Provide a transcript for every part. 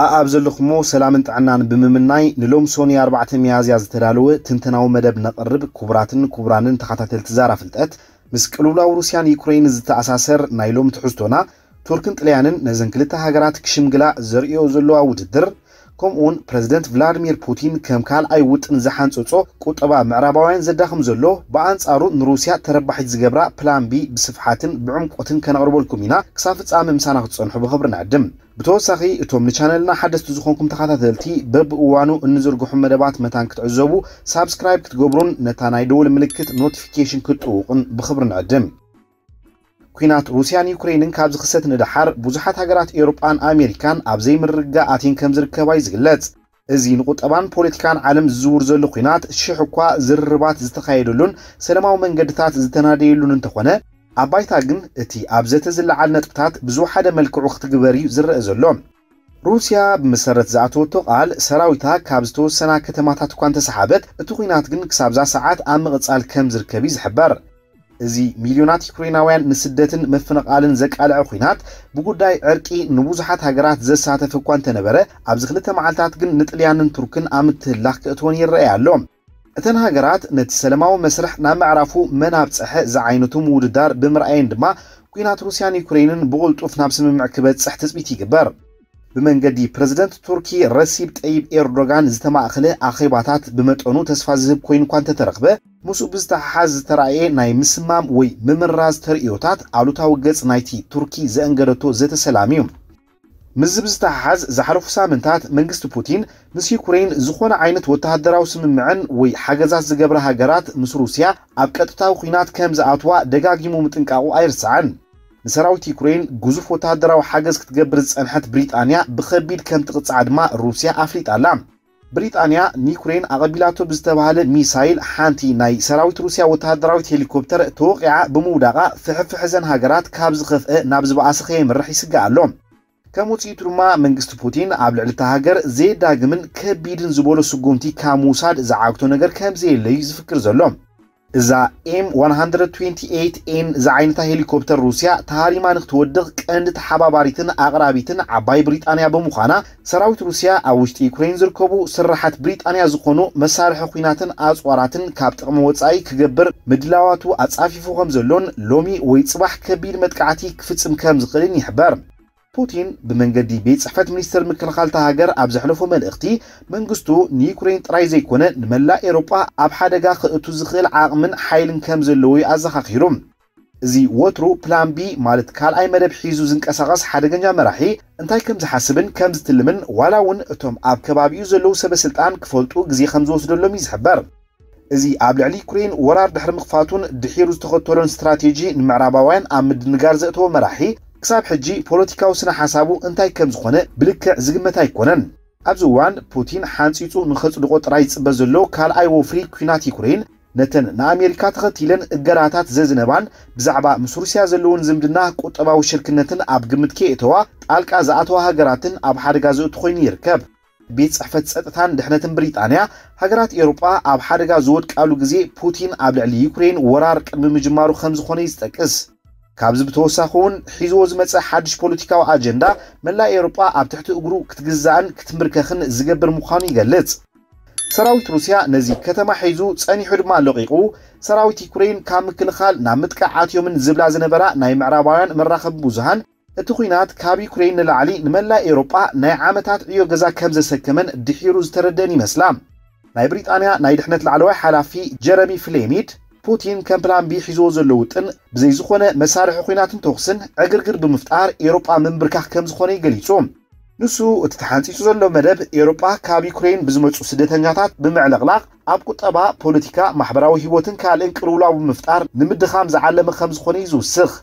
ኣኣብ ዘለኹሞ ሰላምን ጥዕናን ብምምናይ፣ ንሎም ሶኒ ኣርባዕተ ሚያዝያ ዝተዳለወ ትንተናዊ መደብ ነቕርብ። ክቡራትን ክቡራንን ተኸታተልቲ ዛራ ፍልጠት፣ ምስ ቅልውላው ሩስያን ዩክሬን ዝተኣሳሰር ናይ ሎም ትሕዝቶና፣ ቱርክን ጥልያንን ነዘን ክልተ ሃገራት ክሽምግላ ዘርእዮ ዘለዋ ውድድር፣ ከምኡውን ፕረዚደንት ቭላድሚር ፑቲን ከም ካልኣይ ውጥን ዝሓንጸጾ ቁጠባ ምዕራባውያን ዘዳኽም ዘሎ፣ ብኣንጻሩ ንሩስያ ተረባሒት ዝገብራ ፕላን ቢ ብስፍሓትን ብዕምቆትን ከነቕርበልኩም ኢና። ክሳብ ፍጻመ ምሳና ክትጸንሑ ብኽብሪ ንዕድም። ብተወሳኺ፣ እቶም ንቻነልና ሓደስቲ ዝኾንኩም ተኸታተልቲ፣ በብእዋኑ እንዝርግሑ መደባት መታን ክትዕዘቡ፣ ሳብስክራይብ ክትገብሩን ነታ ናይ ደወል ምልክት ኖቲፊኬሽን ክትጥውቑን ብኽብሪ ንዕድም። ኲናት ሩስያን ዩክሬንን ካብ ዝኽሰት ንደሓር፣ ብዙሓት ሃገራት ኤውሮጳን ኣሜሪካን ኣብ ዘይምርግጋእ ኣትየን ከም ዝርከባ እዩ ዝግለጽ። እዚ ንቁጠባን ፖለቲካን ዓለም ዝዝውር ዘሎ ኲናት፣ ሽሕ እኳ ዝርርባት ዝተኻየደሉን ሰላማዊ መንገድታት ዝተናደየሉን እንተኾነ፣ ኣብ ባይታ ግን እቲ ኣብ ዘተ ዝለዓል ነጥብታት ብዝወሓደ መልክዑ ክትግበር እዩ ዝረአ ዘሎ። ሩስያ ብመሰረት ዝኣተወቶ ቃል፣ ሰራዊታ ካብ ዝተወሰና ከተማታት እኳ እንተሰሓበት፣ እቲ ኲናት ግን ክሳብዛ ሰዓት ኣብ ምቕጻል ከም ዝርከብ እዩ ዝሕበር። እዚ ሚልዮናት ዩክሬናውያን ንስደትን ምፍንቓልን ዘቃልዐ ኲናት፣ ብጉዳይ ዕርቂ ንብዙሓት ሃገራት ዘሳተፈ እኳ እንተነበረ፣ ኣብዚ ክልተ መዓልታት ግን ንጥልያንን ቱርክን ኣብ ምትህልላኽ ክእትወን ይረኣይ ኣሎ። እተን ሃገራት ነቲ ሰላማዊ መስርሕ ናብ ምዕራፉ መን ኣብጽሐ ዝዓይነቱ ምውድዳር ብምርኣየን ድማ፣ ኲናት ሩስያን ዩክሬንን ብቕልጡፍ ናብ ስምምዕ ክበጽሕ ትጽቢት ይግበር። ብመንገዲ ፕረዚደንት ቱርኪ ረሲብ ጠይብ ኤርዶጋን ዝተማእኸለ ኣኼባታት ብመጠኑ ተስፋ ዝህብ ኮይኑ እኳ እንተተረኽበ፣ ምስኡ ብዝተሓሓዝ ዝተራእየ ናይ ምስማም ወይ ምምራዝ ተርእዮታት ኣሉታዊ ገጽ ናይቲ ቱርኪ ዘእንገደቶ ዘተ ሰላም እዩ። ምስዚ ብዝተሓሓዝ፣ ዝሓለፉ ሳምንታት መንግስቲ ፑቲን ምስ ዩክሬን ዝኾነ ዓይነት ወተሃደራዊ ስምምዕን ወይ ሓገዛት ዝገብራ ሃገራት ምስ ሩስያ ኣብ ቀጥታዊ ኲናት ከም ዝኣትዋ ደጋጊሙ ምጥንቃቑ ኣይርሳዕን። ንሰራዊት ዩክሬን ግዙፍ ወተሃደራዊ ሓገዝ ክትገብር ዝጸንሐት ብሪጣንያ ብኸቢድ ከም ትቕጻዕ ድማ ሩስያ ኣፍሊጣ ኣላ። ብሪጣንያ ንዩክሬን ኣቐቢላቶ ብዝተባህለ ሚሳይል ሓንቲ ናይ ሰራዊት ሩስያ ወተሃደራዊት ሄሊኮፕተር ተወቒዓ ብምውዳቓ፣ ፍሕፍሕ እዘን ሃገራት ካብ ዝኸፍአ ናብ ዝበኣሰ ከየምርሕ ይስጋእ ኣሎ። ከም ውጽኢቱ ድማ መንግስቲ ፑቲን ኣብ ልዕሊ እታ ሃገር ዘየዳግምን ከቢድን ዝበሎ ስጉምቲ ካብ ምውሳድ ዝዓግቶ ነገር ከም ዘየለ እዩ ዝፍክር ዘሎ። እዛ ኤም ዋን ሃንድረድ ትዌንቲ ኤይት ኤን ዝዓይነታ ሄሊኮፕተር ሩስያ ተሃሪማ ንክትወድቕ ቀንዲ ተሓባባሪትን ኣቕራቢትን ዓባይ ብሪጣንያ ብምዃና፣ ሰራዊት ሩስያ ኣብ ውሽጢ ዩክሬን ዝርከቡ ስራሓት ብሪጣንያ ዝኾኑ መሳርሒ ኲናትን ኣጽዋራትን ካብ ጥቕሚ ወጻኢ ክገብር ምድላዋቱ ኣጻፊፉ ከም ዘሎን ሎሚ ወይ ጽባሕ ከቢድ መጥቃዕቲ ክፍጽም ከም ዝኽእልን ይሕበር። ፑቲን ብመንገዲ ቤት ጽሕፈት ሚኒስትር ምክልኻል እታ ሃገር ኣብ ዘሕለፎ መልእኽቲ፣ መንግስቱ ንዩክሬን ጥራይ ዘይኮነ ንመላእ ኤውሮጳ ኣብ ሓደጋ ከእቱ ዝኽእል ዓቕምን ሓይልን ከም ዘለዎ እዩ ኣዘኻኺሩ። እዚ ወትሩ ፕላን ቢ ማለት ካልኣይ መደብ ሒዙ ዝንቀሳቐስ ሓደገኛ መራሒ እንታይ ከም ዝሓስብን ከም ዝትልምን ዋላ እውን እቶም ኣብ ከባቢኡ ዘለዉ ሰበ ስልጣን ክፈልጡ ግዜ ከም ዝወስደሎም እዩ ዝሕበር። እዚ ኣብ ልዕሊ ዩክሬን ወራር ድሕሪ ምኽፋቱን ድሒሩ ዝተኸተሎን ስትራቴጂ ንምዕራባውያን ኣብ ምድንጋር ዘእተወ መራሒ ክሳብ ሕጂ ፖለቲካዊ ስነ ሓሳቡ እንታይ ከም ዝኾነ ብልክዕ ዝግመት ኣይኮነን። ኣብዚ እዋን ፑቲን ሓንጺጹ ንኸጽድቖ ጥራይ ዝጽበ ዘሎ ካልኣይ ወፍሪ ኲናት ዩክሬን ነተን ንኣሜሪካ ተኸቲለን እገዳታት ዘዝነባን ብዛዕባ ምስ ሩስያ ዘለውን ዝምድና ቁጠባዊ ሽርክነትን ኣብ ግምት ከየእተዋ ጣልቃ ዝኣተዋ ሃገራትን ኣብ ሓደጋ ዘእቱ ኮይኑ ይርከብ። ቤት ጽሕፈት ጸጥታን ድሕነትን ብሪጣንያ፣ ሃገራት ኤውሮጳ ኣብ ሓደጋ ዝወድቃሉ ግዜ ፑቲን ኣብ ልዕሊ ዩክሬን ወራር ቅድሚ ምጅማሩ ከም ዝኾነ እዩ ዝጠቅስ። ካብዚ ብተወሳኺ እውን ሒዝዎ ዝመጸ ሓድሽ ፖለቲካዊ ኣጀንዳ መላእ ኤውሮጳ ኣብ ትሕቲ እግሩ ክትግዛእን ክትምርከኽን ዝገብር ምዃኑ ይገልጽ። ሰራዊት ሩስያ ነዚ ከተማ ሒዙ ጸኒሑ ድማ ለቒቑ፣ ሰራዊት ዩክሬን ካብ ምክልኻል ናብ ምጥቃዕ ኣትዮምን ዝብላ ዝነበራ ናይ ምዕራባውያን መራኸቢ ብዙሃን፣ እቲ ኲናት ካብ ዩክሬን ንላዕሊ ንመላእ ኤውሮጳ ናይ ዓመታት ዕዮ ገዛ ከም ዘሰከመን ድሒሩ ዝተረደን ይመስላ። ናይ ብሪጣንያ ናይ ድሕነት ላዕለዋይ ሓላፊ ጀረሚ ፍሌሚድ፣ ፑቲን ከም ፕላን ቢ ሒዝዎ ዘሎ ውጥን ብዘይ ዝኾነ መሳርሒ ኲናትን ተኹስን ዕግርግር ብምፍጣር ኤውሮጳ ምንብርካኽ ከም ዝኾነ እዩ ገሊጹ። ንሱ እቲ ተሓንጺጹ ዘሎ መደብ ኤውሮጳ ካብ ዩክሬን ብዝመጹ ስደተኛታት ብምዕልቕላቕ ኣብ ቁጠባ፣ ፖለቲካ፣ ማሕበራዊ ህይወትን ካልእን ቅልውላው ብምፍጣር ንምድኻም ዝዓለመ ከም ዝኾነ እዩ ዝውስኽ።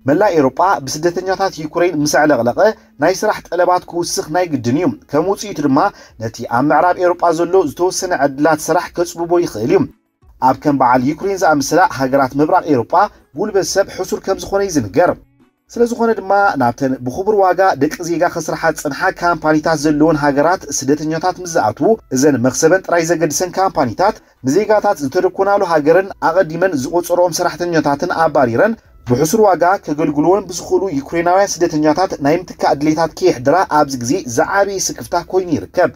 መላእ ኤውሮጳ ብስደተኛታት ዩክሬን ምስ ኣዕለቕለቐ ናይ ስራሕ ጠለባት ክውስኽ ናይ ግድን እዩ። ከም ውጽኢቱ ድማ ነቲ ኣብ ምዕራብ ኤውሮጳ ዘሎ ዝተወሰነ ዕድላት ስራሕ ከጽብቦ ይኽእል እዩ። ኣብ ከም በዓል ዩክሬን ዝኣመሰላ ሃገራት ምብራቕ ኤውሮጳ ጉልበት ሰብ ሕሱር ከም ዝኾነ እዩ ዝንገር። ስለ ዝኾነ ድማ ናብተን ብኽቡር ዋጋ ደቂ ዜጋ ከስርሓ ዝጸንሓ ካምፓኒታት ዘለወን ሃገራት ስደተኛታት ምስ ዝኣትዉ እዘን መኽሰበን ጥራይ ዘገድሰን ካምፓኒታት ንዜጋታት ዝተደኮናሉ ሃገርን ኣቐዲመን ዝቖጸርኦም ሰራሕተኛታትን ኣባሪረን ብሕሱር ዋጋ ከገልግልዎን ብዝኽእሉ ዩክሬናውያን ስደተኛታት ናይ ምትካእ ድሌታት ከየሕድራ ኣብዚ ግዜ ዝዓበየ ስክፍታ ኮይኑ ይርከብ።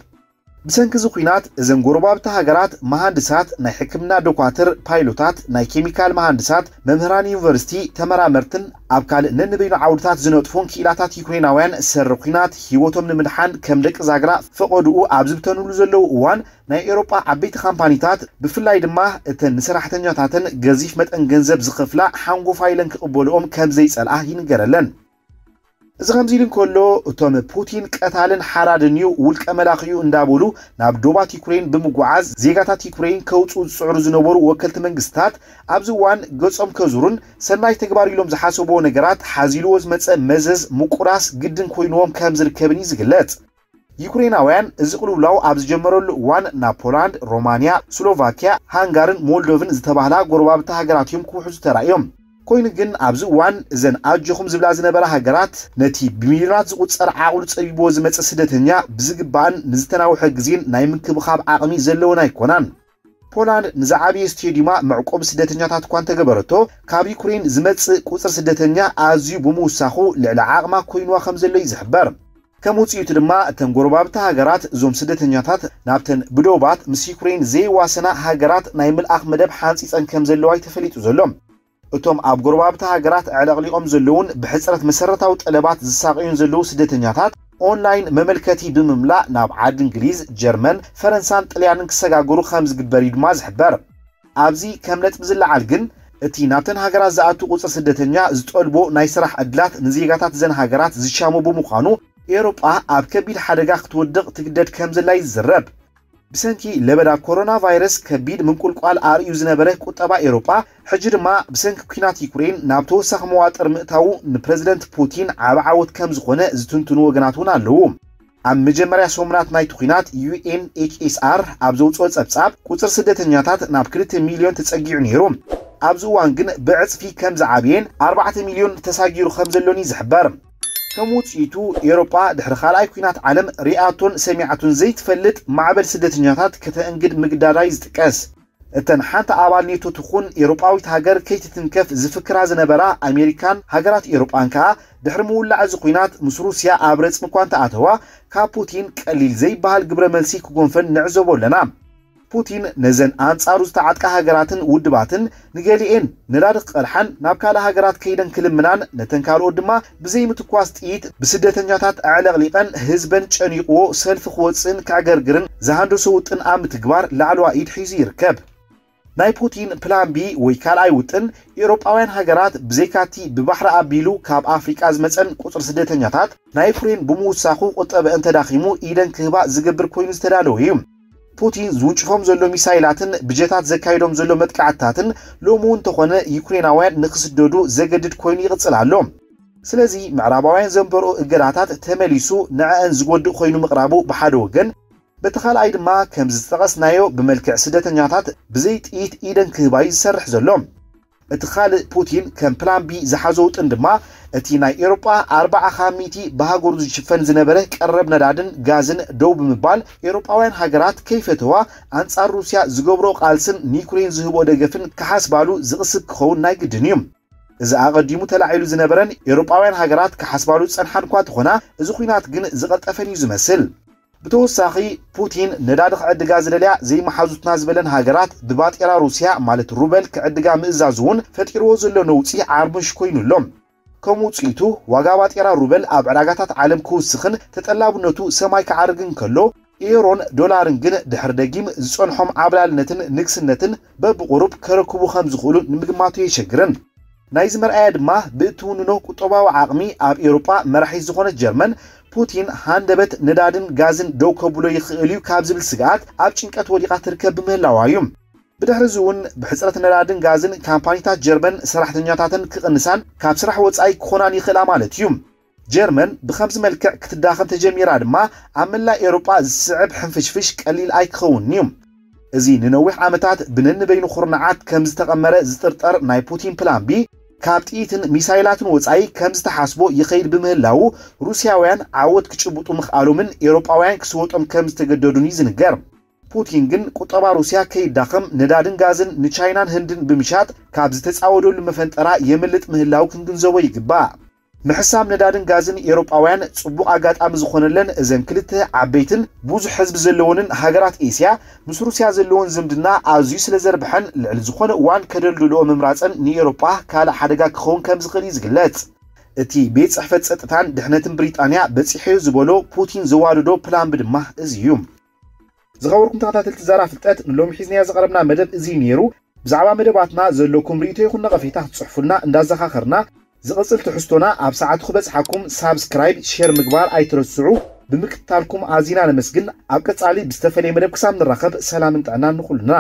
ብሰንኪ እዚ ኲናት እዘን ጎረባብቲ ሃገራት መሃንድሳት፣ ናይ ሕክምና ዶኳትር፣ ፓይሎታት፣ ናይ ኬሚካል መሃንድሳት፣ መምህራን ዩኒቨርሲቲ፣ ተመራመርትን ኣብ ካልእ ነንበይኑ ዓውድታት ዝነጥፉን ክኢላታት ዩክሬናውያን ሰሪ ኲናት ህይወቶም ንምድሓን ከም ደቂ ዛግራ ፈቐድኡ ኣብ ዝብተኑሉ ዘለዉ እዋን ናይ ኤውሮጳ ዓበይቲ ካምፓኒታት ብፍላይ ድማ እተን ንሰራሕተኛታተን ገዚፍ መጠን ገንዘብ ዝኸፍላ ሓንጎፋ ኢለን ክቕበልኦም ከም ዘይጸልኣ ይንገረለን። እዚ ከምዚ ኢሉ እንከሎ እቶም ፑቲን ቀታልን ሓራድን እዩ ውልቀ መላኺኡ እንዳበሉ ናብ ዶባት ዩክሬን ብምጉዓዝ ዜጋታት ዩክሬን ከውፅኡ ዝፅዕሩ ዝነበሩ ወከልቲ መንግስታት ኣብዚ እዋን ገጾም ከዙሩን ሰናይ ተግባር ኢሎም ዝሓሰብዎ ነገራት ሓዚልዎ ዝመፀ መዘዝ ምቁራስ ግድን ኮይንዎም ከም ዝርከብን እዩ ዝግለጽ። ዩክሬናውያን እዚ ቅልውላው ኣብ ዝጀመረሉ እዋን ናብ ፖላንድ፣ ሮማንያ፣ ስሎቫኪያ፣ ሃንጋርን ሞልዶቭን ዝተባህላ ጎረባብቲ ሃገራት እዮም ክውሕዙ ተራእዮም። ኮይኑ ግን ኣብዚ እዋን እዘን ኣጆኹም ዝብላ ዝነበራ ሃገራት ነቲ ብሚልዮናት ዝቑጸር ዓቕሉ ጸቢብዎ ዝመጸ ስደተኛ ብዝግባእን ንዝተናውሐ ግዜን ናይ ምንክብኻብ ዓቕሚ ዘለወን ኣይኮናን። ፖላንድ ንዝዓበየ ስቴዲዩማ መዕቆቢ ስደተኛታት እኳ እንተገበረቶ ካብ ዩክሬን ዝመጽእ ቁጽሪ ስደተኛ ኣዝዩ ብምውሳኹ ልዕሊ ዓቕማ ኮይንዋ ከም ዘሎ እዩ ዝሕበር። ከም ውፅኢቱ ድማ እተን ጎረባብቲ ሃገራት እዞም ስደተኛታት ናብተን ብዶባት ምስ ዩክሬን ዘይዋሰና ሃገራት ናይ ምልኣኽ መደብ ሓንፂፀን ከም ዘለዋ እዩ ተፈሊጡ ዘሎ። እቶም ኣብ ጎረባብቲ ሃገራት ኣዕለቕሊቖም ዘለውን ብሕፅረት መሰረታዊ ጠለባት ዝሳቐዩን ዘለዉ ስደተኛታት ኦንላይን መመልከቲ ብምምላእ ናብ ዓዲ እንግሊዝ፣ ጀርመን፣ ፈረንሳን ጥልያንን ክሰጋገሩ ከም ዝግበር እዩ ድማ ዝሕበር። ኣብዚ ከም ነጥቢ ዝለዓል ግን እቲ ናብተን ሃገራት ዝኣቱ ቁፅሪ ስደተኛ ዝጠልቦ ናይ ስራሕ ዕድላት ንዜጋታት እዘን ሃገራት ዝሻሙ ብምዃኑ ኤውሮጳ ኣብ ከቢድ ሓደጋ ክትወድቕ ትግደድ ከም ዘላ እዩ ዝዝረብ። ብሰንኪ ለበዳ ኮሮና ቫይረስ ከቢድ ምንቁልቋል ኣርእዩ ዝነበረ ቁጠባ ኤውሮጳ ሕጂ ድማ ብሰንኪ ኲናት ዩክሬን ናብ ተወሳኺ መዋጥር ምእታዉ ንፕረዚደንት ፑቲን ዓቢ ዓወት ከም ዝኾነ ዝትንትኑ ወገናት እውን ኣለዉ። ኣብ መጀመርያ ሰሙናት ናይቲ ኲናት ዩ ኤን ኤች ኤስ ኣር ኣብ ዘውፅኦ ጸብጻብ ቁጽሪ ስደተኛታት ናብ ክልተ ሚልዮን ተጸጊዑ ነይሩ። ኣብዚ እዋን ግን ብዕጽፊ ከም ዝዓብየን ኣርባዕተ ሚልዮን ተሳጊሩ ከም ዘሎን እዩ ዝሕበር። ከም ውጽኢቱ ኤውሮጳ ድሕሪ ካልኣይ ኲናት ዓለም ሪኣቶን ሰሚዓቶን ዘይትፈልጥ ማዕበል ስደተኛታት ከተእንግድ ምግዳዳ እዩ ዝጥቀስ። እተን ሓንቲ ኣባል ኔቶ ትኹን ኤውሮጳዊት ሃገር ከይትትንከፍ ዝፍክራ ዝነበራ ኣሜሪካን ሃገራት ኤውሮጳን ከኣ ድሕሪ ምውላዕ እዚ ኲናት ምስ ሩስያ ኣብ ረጽሚ እኳ እንተኣተዋ ካብ ፑቲን ቀሊል ዘይበሃል ግብረ መልሲ ክጎንፈን ንዕዘቦ ኣለና። ፑቲን ነዘን ኣንጻሩ ዝተዓጥቃ ሃገራትን ውድባትን ንገሊኤን ነዳዲ ክቐድሓን ናብ ካልእ ሃገራት ከይደን ክልምናን ነተን ካልኦት ድማ ብዘይ ምትኳስ ጥይት ብስደተኛታት ኣዕለቕሊቐን ህዝበን ጨኒቕዎ ሰልፊ ክወጽእን ከዕገርግርን ዝሃንደሶ ውጥን ኣብ ምትግባር ላዕለዋ ኢድ ሒዙ ይርከብ። ናይ ፑቲን ፕላን ቢ ወይ ካልኣይ ውጥን ኤውሮጳውያን ሃገራት ብዘይካቲ ብባሕሪ ኣቢሉ ካብ ኣፍሪቃ ዝመጸን ቁጽሪ ስደተኛታት ናይ ዩክሬን ብምውሳኹ ቁጠበአን ተዳኺሙ ኢደን ክህባ ዝገብር ኮይኑ ዝተዳለወ እዩ። ፑቲን ዝውንጭፎም ዘሎ ሚሳይላትን ብጀታት ዘካይዶም ዘሎ መጥቃዕትታትን ሎሚ እውን እንተኾነ ዩክሬናውያን ንክስደዱ ዘገድድ ኮይኑ ይቕጽል ኣሎ። ስለዚ ምዕራባውያን ዘንበርኦ እገዳታት ተመሊሱ ንዐአን ዝጎድእ ኮይኑ ምቕራቡ ብሓደ ወገን፣ በቲ ካልኣይ ድማ ከምዚ ዝጠቐስናዮ ብመልክዕ ስደተኛታት ብዘይ ጥይት ኢደን ክህባዩ ዝሰርሕ ዘሎ። እቲ ካልእ ፑቲን ከም ፕላን ቢ ዝሓዞ ውጥን ድማ እቲ ናይ ኤውሮጳ ኣርባዓ ካብ ሚእቲ ብሃገሩ ዝሽፈን ዝነበረ ቀረብ ነዳድን ጋዝን ደው ብምባል ኤውሮጳውያን ሃገራት ከይፈተዋ ኣንጻር ሩስያ ዝገብሮ ቃልስን ንዩክሬን ዝህቦ ደገፍን ክሓስባሉ ዝቕስብ ክኸውን ናይ ግድን እዩ። እዚ ኣቐዲሙ ተላዒሉ ዝነበረን ኤውሮጳውያን ሃገራት ክሓስባሉ ዝጸንሓን እኳ እንተኾና እዚ ኲናት ግን ዝቐልጠፈን እዩ ዝመስል። ብተወሳኺ ፑቲን ነዳዲ ክዕድጋ ዝደልያ ዘይመሓዙትና ዝበለን ሃገራት ብባጤራ ሩስያ ማለት ሩበል ክዕድጋ ምእዛዙ እውን ፈጢርዎ ዘሎ ነውጺ ዓርሙሽ ኮይኑ ኣሎ። ከም ውጽኢቱ ዋጋ ባጤራ ሩበል ኣብ ዕዳጋታት ዓለም ክውስኽን ተጠላብነቱ ሰማይ ክዓርግን ከሎ ኤውሮን ዶላርን ግን ድሕሪ ደጊም ዝጸንሖም ዓብላልነትን ንግስነትን በብቑሩብ ከረክቡ ከም ዝኽእሉ ንምግማቱ የሸግርን። ናይዚ መርኣያ ድማ ብእትውንኖ ቁጠባዊ ዓቕሚ ኣብ ኤውሮጳ መራሒት ዝኾነት ጀርመን ፑቲን ሃንደበት ነዳድን ጋዝን ደው ከብሎ ይኽእል እዩ ካብ ዝብል ስግኣት ኣብ ጭንቀት ወዲቓ ትርከብ ብምህላዋ እዩ። ብድሕሪ እዚ እውን ብሕፅረት ነዳድን ጋዝን ካምፓኒታት ጀርመን ሰራሕተኛታተን ክቕንሳን ካብ ስራሕ ወፃኢ ክኾናን ይኽእላ ማለት እዩ። ጀርመን ብኸምዚ መልክዕ ክትዳኸም ተጀሚራ ድማ ኣብ መላእ ኤውሮጳ ዝስዕብ ሕንፍሽፍሽ ቀሊል ኣይክኸውንን እዩ። እዚ ንነዊሕ ዓመታት ብነንበይኑ ኩርናዓት ከም ዝተቐመረ ዝጥርጠር ናይ ፑቲን ፕላን ቢ ካብ ጥይትን ሚሳይላትን ወጻኢ ከም ዝተሓስቦ ይኸይድ ብምህላዉ ሩስያውያን ዓወት ክጭብጡ ምኽኣሎምን ኤውሮጳውያን ክስወጦም ከም ዝተገደዱን እዩ ዝንገር። ፑቲን ግን ቁጠባ ሩስያ ከይዳኸም ነዳድን ጋዝን ንቻይናን ህንድን ብምሻጥ ካብ ዝተጻወደሉ መፈንጠራ የምልጥ ምህላው ክንግንዘቦ ይግባእ። ምሕሳም ነዳድን ጋዝን ኤውሮጳውያን ጽቡቕ ኣጋጣሚ ዝኾነለን እዘን ክልተ ዓበይትን ብዙሕ ህዝቢ ዘለወንን ሃገራት ኤስያ ምስ ሩስያ ዘለወን ዝምድና ኣዝዩ ስለ ዘርብሐን ልዕሊ ዝኾነ እዋን ከደልድልኦ ምምራጸን ንኤውሮጳ ካልእ ሓደጋ ክኸውን ከም ዝኽእል እዩ ዝግለጽ። እቲ ቤት ጽሕፈት ጸጥታን ድሕነትን ብሪጣንያ በጺሐዮ ዝበሎ ፑቲን ዘዋደዶ ፕላን ቢ ድማ እዚ እዩ። ዝኸበርኩም ተኸታተልቲ ዛራ ፍልጠት ንሎሚ ሒዝናዮ ዝቐረብና መደብ እዚ ነይሩ። ብዛዕባ መደባትና ዘለኩም ርእይቶ ይኹን ነቐፌታ ክትጽሕፉልና እንዳዘኻኸርና ዝቕጽል ትሕዝቶና ኣብ ሰዓቱ ክበጽሓኩም ሳብስክራይብ፣ ሼር ምግባር ኣይትረስዑ። ብምክትታልኩም ኣዚና ነመስግን። ኣብ ቀጻሊ ብዝተፈለየ መደብ ክሳብ ንራኸብ ሰላምን ጥዕናን ንኹልና።